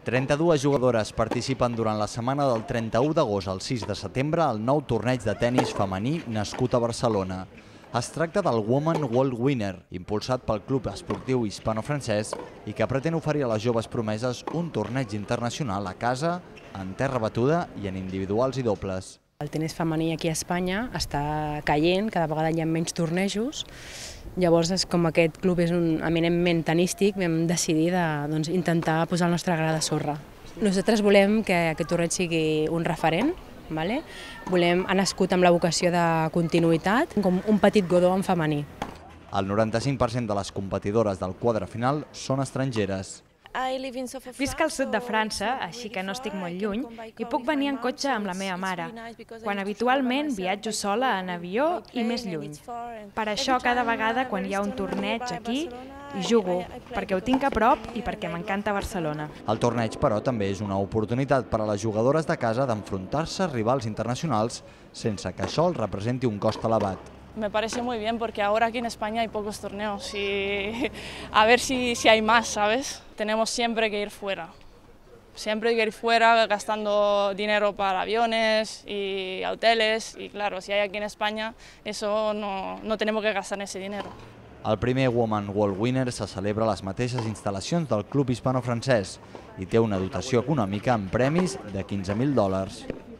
32 jugadores participen durant la setmana del 31 d'agost al 6 de setembre al nou torneig de tennis femení nascut a Barcelona. Es tracta del Women World Winner, impulsat pel Club Esportiu Hispano-Francès i que pretén oferir a les joves promeses un torneig internacional a casa, en terra batuda i en individuals i dobles. El tenis femení aquí a Espanya està caient, cada vegada hi ha menys tornejos. Llavors, com aquest club és eminentment tenístic, vam decidir intentar posar el nostre gra de sorra. Nosaltres volem que aquest torneig sigui un referent, ha nascut amb la vocació de continuïtat, com un petit Godó en femení. El 95% de les competidores del quadre final són estrangeres. Visc al sud de França, així que no estic molt lluny, i puc venir en cotxe amb la meva mare, quan habitualment viatjo sola en avió i més lluny. Per això, cada vegada quan hi ha un torneig aquí, hi jugo, perquè ho tinc a prop i perquè m'encanta Barcelona. El torneig, però, també és una oportunitat per a les jugadores de casa d'enfrontar-se a rivals internacionals sense que això els representi un cost elevat. Me parece muy bien porque ahora aquí en España hay pocos torneos y a ver si hay más, ¿sabes? Tenemos siempre que ir fuera. Siempre hay que ir fuera gastando dinero para aviones y hoteles y claro, si hay aquí en España, eso no tenemos que gastar ese dinero. El primer Women World Winner se celebra a les mateixes instal·lacions del Club Hispano-Francès i té una dotació econòmica amb premis de $15.000.